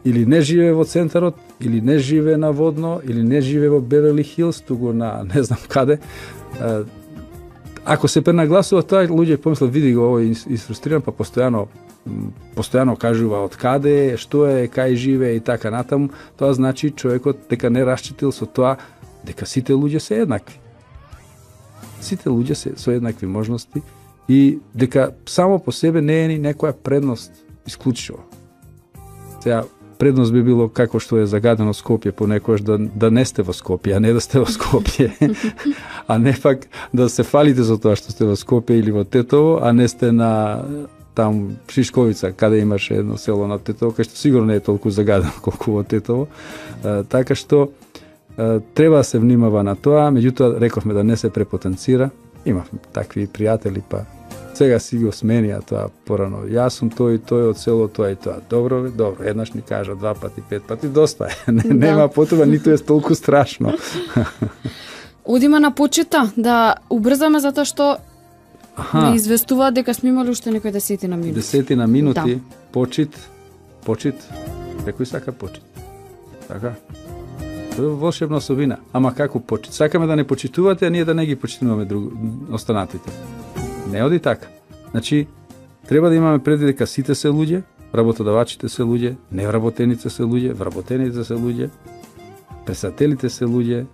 или не живее во центарот, или не живее на Водно, или не живее во Беверли Хилс, туку на не знам каде. Ако се пренагласува тоа, луѓе помислат, види го, овој изфрустриран, па постојано постојано кажува од каде, што е, кај живее и така натаму, тоа значи човекот дека не расчитил со тоа дека сите луѓе се еднакви. Сите луѓе се со еднакви можности и дека само по себе не е ни некоја предност исклучиво. Сега, предност би било како што е загадено Скопје понекогаш да, да не сте во Скопје, а не да сте во Скопје. А не пак да се фалите за тоа што сте во Скопје или во Тетово, а не сте на там Шишковица, каде имаше едно село на Тетово, кај што сигурно не е толку загадено колку во Тетово. А, така што а, треба да се внимава на тоа, меѓутоа рековме да не се препотенцира. Имавме такви пријатели, па сега си го сменија тоа порано. Јас сум тој и тој од село тоа и тоа. Добро, добро, еднаш ни кажа два пати, пет пати, доста е. Не, да. Нема потреба, ниту е толку страшно. Одиме на почита, да убрзаме затоа што не известува дека сме имали уште некои десетина минути. Десетина минути, да. Почит, почит, некој сака почит. Така? Тоа е волшебна особина. Ама како почит? Сакаме да не почитувате, а ние да не ги почитуваме друг... останатите. Не оди така. Значи, треба да имаме предвид дека сите се луѓе, работодавачите се луѓе, невработените се луѓе, вработените се луѓе, пресателите се луѓе,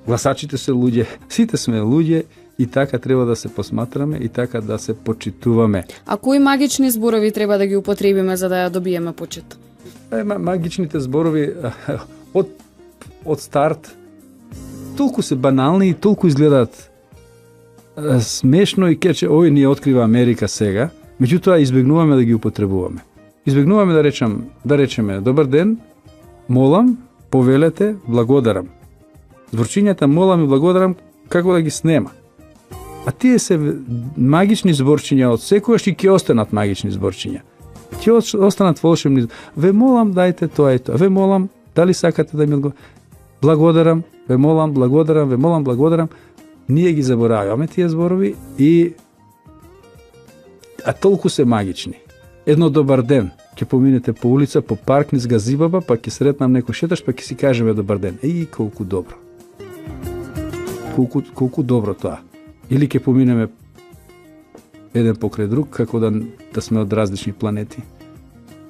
гласачите се луѓе, сите сме луѓе и така треба да се посматраме и така да се почитуваме. А кои магични зборови треба да ги употребиме за да ја добиеме почит? Е, магичните зборови од, од старт толку се банални и толку изгледаат смешно и кече, ој ни открива Америка сега, меѓутоа избегнуваме да ги употребуваме. Избегнуваме да речем, да речеме добар ден, молам, повелете, благодарам. Зборчињата молам и благодарам како да ги снема. А тие се магични зборчиња од секојаш и ќе останат магични зборчиња. Ќе останат волшебни. Ве молам, дајте тоа и тоа. Ве молам, дали сакате да ми одговорите? Благодарам, ве молам, благодарам, ве молам, благодарам. Ние ги забораваме тие зборови и а толку се магични. Едно добар ден, ќе поминете по улица, по парк низ газибаба, па ќе сретнам некој шеташ, па ќе си кажеме добар ден. Еј, колку добро. Колку колку добро тоа. Или ќе поминеме еден покрај друг, како да, да сме од различни планети.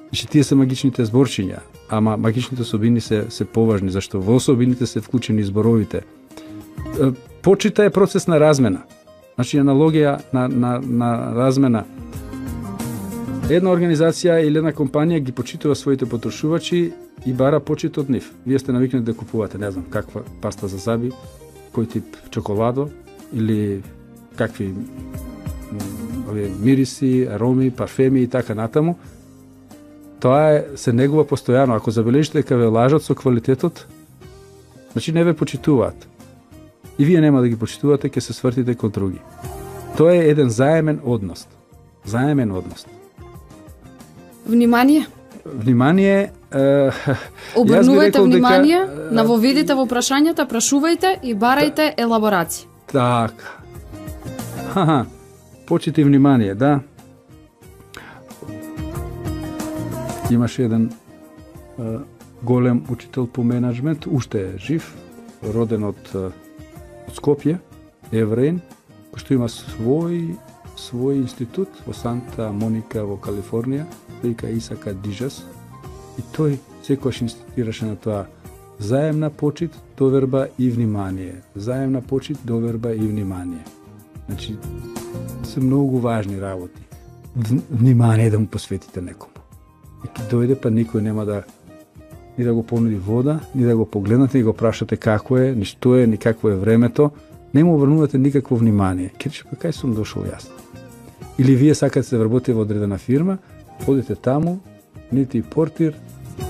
Значи, тие се магичните зборчиња, ама магичните особини се, се поважни, зашто во особините се вклучени зборовите. Почита е процес на размена. Значи, аналогија на, на, на размена. Една организација или една компанија ги почитува своите потрошувачи и бара почит од нив. Вие сте навикнати да купувате, не знам, каква паста за зъби, кој тип чоколадо или какви овие мириси, ароми, парфеми и така натаму. Тоа е, се негува постојано. Ако забележите дека ве лажат со квалитетот, значи не ве почитуваат. И вие нема да ги почитувате, ќе се свртите кон други. Тоа е еден заемен однос. Заемен однос. Внимание. Внимание. Е, Обрнувајте внимание, дека, навоведите во прашањата, прашувајте и барајте елаборација. Така. Ха-ха. Почити внимание, да. Имаше еден е, голем учител по менеджмент, уште е жив, роден од, од Скопје, евреин, кој што има свој свој институт во Санта Моника во Калифорнија, вика Исака Дижас, и тој секогаш инститираше на тоа заемна почит, доверба и внимание. Заемна почит, доверба и внимание. Значи, се многу важни работи. Внимание да му посветите некому. И ке дојде, па никој нема да ни да го понуди вода, ни да го погледнате и го прашате како е, ни што е, ни какво е времето, не му обрнувате никакво внимание. Ке рече, па кај сум дошол јас? Или вие сакате да работите во одредена фирма, одите таму, нити портир,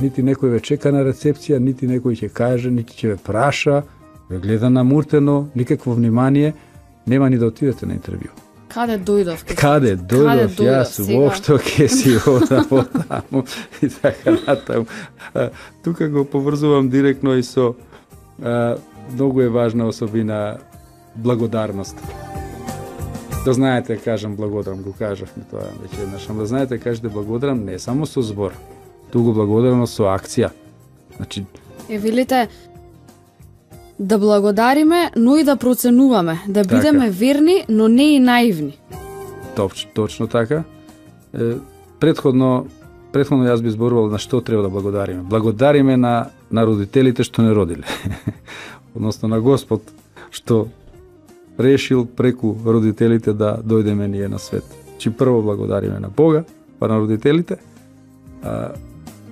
нити некој ве чека на рецепција, нити некој ќе каже, нити ќе ве праша, ве гледа намуртено, никакво внимание, нема ни да отидете на интервју. Каде дојдов? Каде дојдов, јас воопшто ќе си одам во таму и така натаму. Тука го поврзувам директно и со а, многу е важна особина благодарност. Да знаете, кажам благодарам, го кажавме тоа веќе еднаш, да знаете, кажете благодарам не само со збор, туку благодарам со акција. Значи, Е, велите, да благодариме, но и да проценуваме, да бидеме така. верни, но не и наивни. Точ, точно така. Е, предходно, предходно јас би зборувал на што треба да благодариме. Благодариме на, на родителите што не родиле. Односно на Господ што решил преку родителите да дојдеме ние на свет. Чи прво благодариме на Бога, па на родителите. А,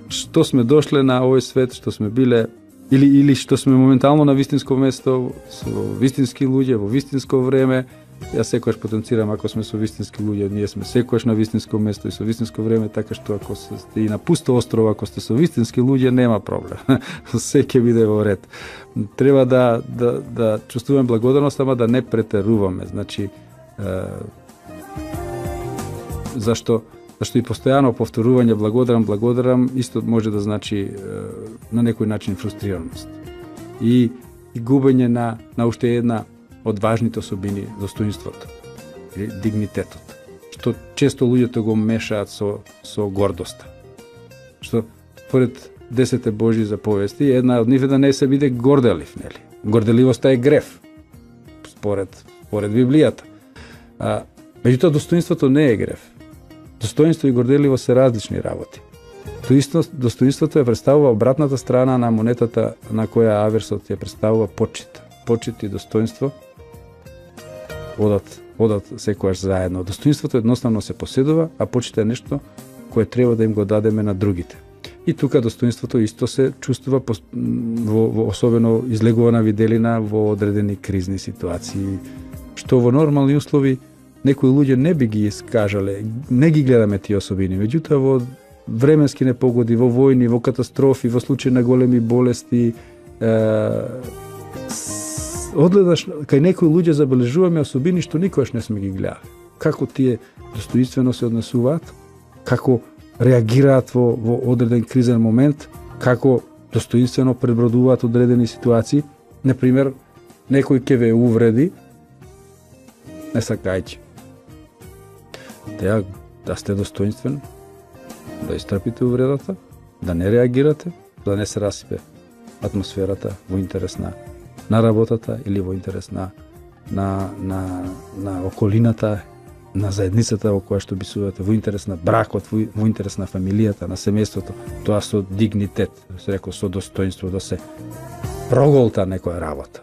што сме дошле на овој свет, што сме биле или или што сме моментално на вистинско место, со вистински луѓе во вистинско време. Јас секогаш потенцирам, ако сме со вистински луѓе, ние сме секогаш на вистинско место и со вистинско време, така што ако сте и на пусто острова, ако сте со вистински луѓе, нема проблем. Се ќе биде во ред. Треба да да да чувствуваме благодарност, ама да не претеруваме. Значи, е, зашто зашто и постојано повторување благодарам, благодарам, исто може да значи е, на некој начин фрустрираност. И и губење на на уште една од важните особини, достоинството или дигнитетот, што често луѓето го мешаат со со гордоста. Што поред десете Божји заповести, една од нив е да не се биде горделив, нели? Горделивоста е греф, според според Библијата. А меѓутоа достоинството не е греф. Достоинство и горделивост се различни работи. Достоинството е представува обратната страна на монетата на која аверсот ја представува почит. Почит и достоинство одат, одат секојаш заедно. Достоинството едноставно се поседува, а почит е нешто кое треба да им го дадеме на другите. И тука достоинството исто се чувствува во, во особено излегувана виделина во одредени кризни ситуации, што во нормални услови некои луѓе не би ги искажале, не ги гледаме тие особини. Меѓутоа во временски непогоди, во војни, во катастрофи, во случаи на големи болести, е, одгледаш кај некои луѓе забележуваме особини што никогаш не сме ги гледали. Како тие достоинствено се однесуваат, како реагираат во, во одреден кризен момент, како достоинствено пребродуваат одредени ситуации. Например, некој ќе ве увреди, не сакајќи. Теа да сте достоинствени, да истрпите увредата, да не реагирате, да не се расипе атмосферата во интерес на, на работата или во интерес на, на, на, на околината на заедницата во која што бисувате, во интерес на бракот, во, во интерес на фамилијата, на семејството, тоа со дигнитет, се рекол, со достоинство, да се проголта некоја работа.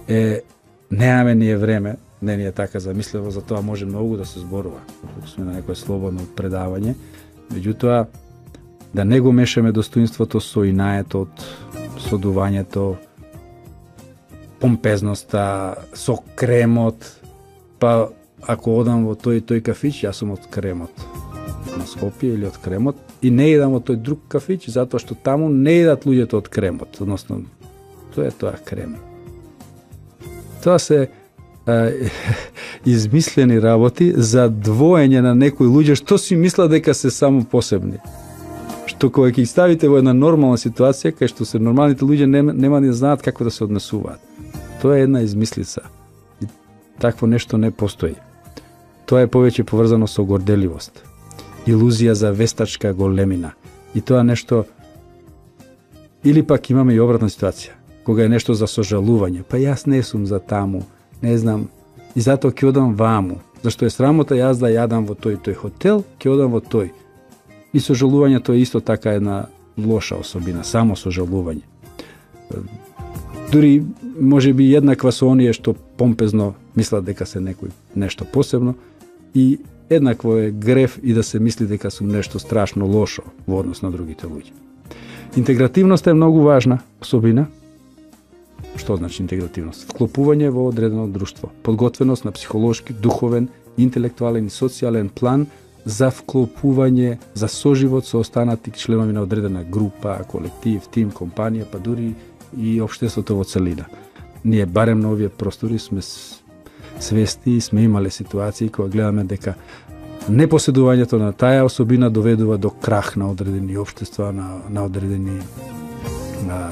Е, неаме ние време, не ни е така замисливо, за тоа може многу да се зборува, докато сме на некој слободно предавање, меѓутоа, да не го мешаме достоинството со инаетот, со дувањето, помпезноста, со кремот, па ако одам во тој тој кафич, јас сум од кремот на Скопје или од кремот и не идам во тој друг кафич затоа што таму не идат луѓето од кремот, односно тоа е тоа крем. Тоа се а, измислени работи за двоење на некои луѓе што си мислат дека се само посебни. Што кога ќе ги ставите во една нормална ситуација кај што се нормалните луѓе нема, нема да знаат како да се однесуваат. Тоа е една измислица. И такво нешто не постои. Тоа е повеќе поврзано со горделивост, илузија за вестачка големина. И тоа нешто, или пак имаме и обратна ситуација, кога е нешто за сожалување, па јас не сум за таму, не знам, и затоа ќе одам ваму, зашто е срамота јас да јадам во тој тој хотел, ќе одам во тој. И сожалувањето е исто така една лоша особина, само сожалување. Дури може би еднаква со оние што помпезно мислат дека се некој нешто посебно и еднакво е греф и да се мисли дека сум нешто страшно лошо во однос на другите луѓе. Интегративноста е многу важна особина. Што значи интегративност? Вклопување во одредено друштво, подготвеност на психолошки, духовен, интелектуален и социјален план за вклопување, за соживот со останати членови на одредена група, колектив, тим, компанија, па дури и општеството во целина. Ние барем на овие простори сме свести и сме имале ситуации кога гледаме дека непоседувањето на таа особина доведува до крах на одредени општества, на, на одредени на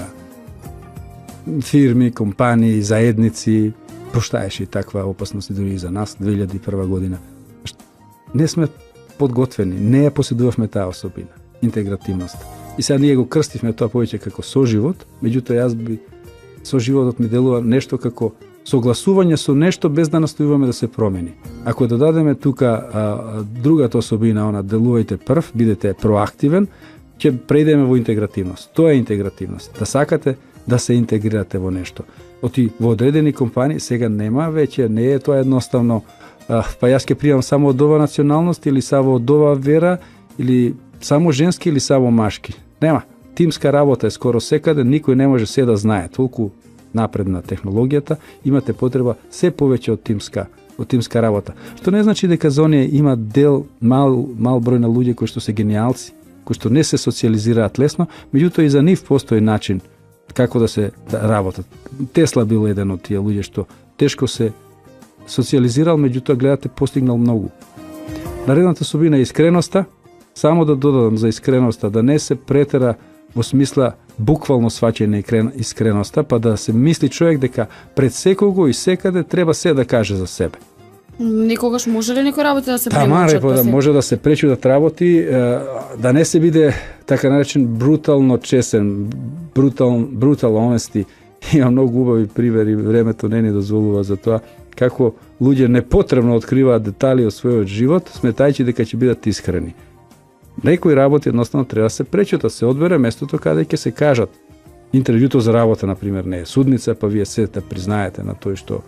фирми, компании, заедници. Поштаеше и таква опасност дури и за нас две илјади и прва година. Не сме подготвени, не ја поседувавме таа особина, интегративност. И сега ние го крстивме тоа повеќе како соживот, меѓутоа јас би соживотот ми делува нешто како согласување со нешто без да настојуваме да се промени. Ако додадеме тука а, другата особина, она делувајте прв, бидете проактивен, ќе преидеме во интегративност. Тоа е интегративност. Да сакате да се интегрирате во нешто. Оти во одредени компании сега нема веќе, не е тоа едноставно, а, па јас ќе пријам само од ова националност или само од ова вера или само женски или само машки. Нема. Тимска работа е скоро секаде, никој не може се да знае. Толку напредна технологијата, имате потреба се повеќе од тимска, од тимска работа. Што не значи дека за оние има дел мал мал број на луѓе кои што се гениалци, кои што не се социализираат лесно, меѓутоа и за нив постои начин како да се работат. Тесла бил еден од тие луѓе што тешко се социализирал, меѓутоа гледате постигнал многу. Наредната особина е искреноста. Само да додадам за искреноста, да не се претера во смисла буквално сваќање искреноста, па да се мисли човек дека пред секого и секаде треба се да каже за себе. Никогаш може ли некој работи да се премолчат? Тамаре, да може да се пречудат работи, да не се биде така наречен брутално чесен, брутал, брутал honesty. Има многу убави примери, времето не ни дозволува за тоа, како луѓе непотребно откриваат детали од својот живот, сметајќи дека ќе бидат искрени. Некои работи едноставно треба да се пречутат, се одбере местото каде ќе се кажат. Интервјуто за работа, например, не е судница, па вие се да признаете на тој што,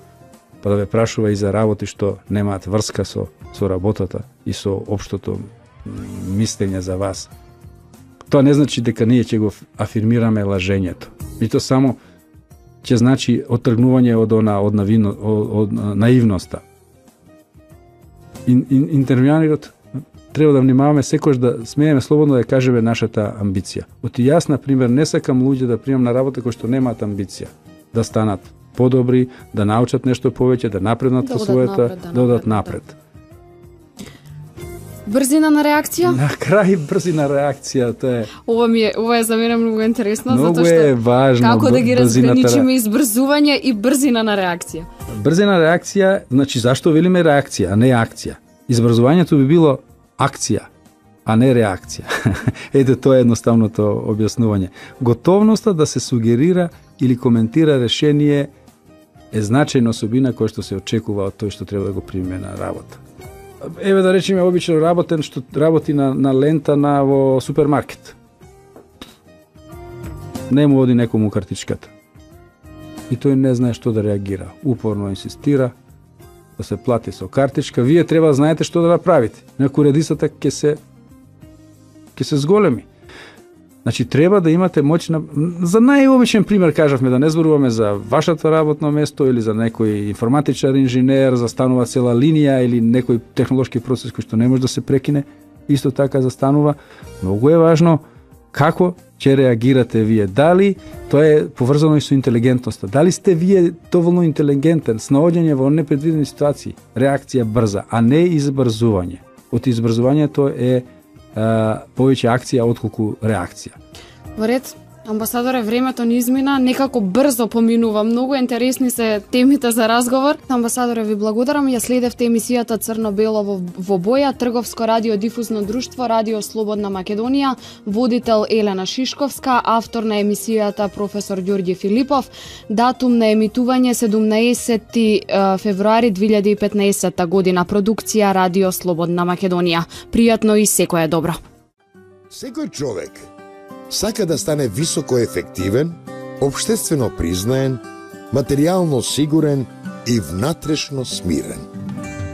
па да ве прашува и за работи што немаат врска со, со работата и со општото мислење за вас. Тоа не значи дека ние ќе го афирмираме лажењето. И то само ќе значи оттргнување од она од, навино, од, од наивноста. Ин, ин, интервјуарот треба да внимаваме секојаш да смееме слободно да кажеме нашата амбиција. Оти јас, например, не сакам луѓе да примам на работа кои што немаат амбиција, да станат подобри, да научат нешто повеќе, да напреднат во својата, да одат напред. Брзина на реакција? На крај брзина реакција, тоа е. Ова ми е, ова е за мене многу интересно, многу затоа што е важно, како да ги разграничиме избрзување и брзина на реакција. Брзина реакција, значи зашто велиме реакција, а не акција? Избрзувањето би било акција, а не реакција. Ете, тоа е едноставното објаснување. Готовноста да се сугерира или коментира решение е значајна особина која што се очекува од тој што треба да го приме на работа. Еве да речеме обично работен што работи на, на лента на во супермаркет. Не му оди некому картичката. И тој не знае што да реагира. Упорно инсистира да се плати со картичка. Вие треба да знаете што да направите. Инаку редисата ќе се ќе се зголеми. Значи треба да имате моќна, за најобичен пример кажавме, да не зборуваме за вашето работно место или за некој информатичар, инженер, застанува цела линија или некој технолошки процес кој што не може да се прекине, исто така застанува. Многу е важно како ќе реагирате вие. Дали тоа е поврзано и со интелигентноста. Дали сте вие доволно интелигентен, снаоѓање во непредвидени ситуации, реакција брза, а не избрзување. Од избрзувањето е а, повеќе акција отколку реакција. Во ред, амбасадоре, времето ни измина, некако брзо поминува. Многу интересни се темите за разговор. Амбасадоре, ви благодарам. Ја следевте емисијата Црно-бело во, во боја, Трговско радиодифузно друштво, Радио Слободна Македонија, водител Елена Шишковска, автор на емисијата професор Ѓорѓи Филипов. Датум на емитување седумнаесети февруари две илјади и петнаесетта година. Продукција Радио Слободна Македонија. Пријатно и секое добро. Секој човек сака да стане високо ефективен, општествено признаен, материјално сигурен и внатрешно смирен.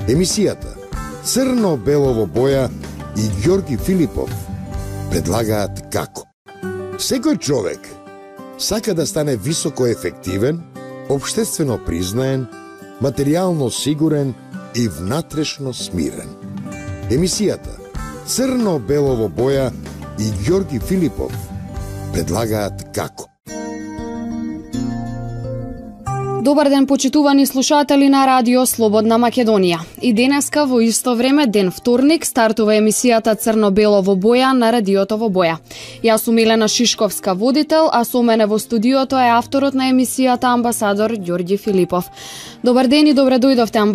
Емисијата Црно-бело во боја и Ѓорѓи Филипов предлагаат како. Секој човек сака да стане високо ефективен, општествено признаен, материјално сигурен и внатрешно смирен. Емисијата Црно-бело во боја и Ѓорѓи Филипов предлагаат како. Добар ден, почитувани слушатели на Радио Слободна Македонија. И денеска во исто време, ден вторник, стартува емисијата Црно-бело во боја на Радиото во боја. Јас сум Елена Шишковска, водител, а со мене во студиото е авторот на емисијата амбасадор Ѓорѓи Филипов. Добар ден и добре дојдовте, амбасадор.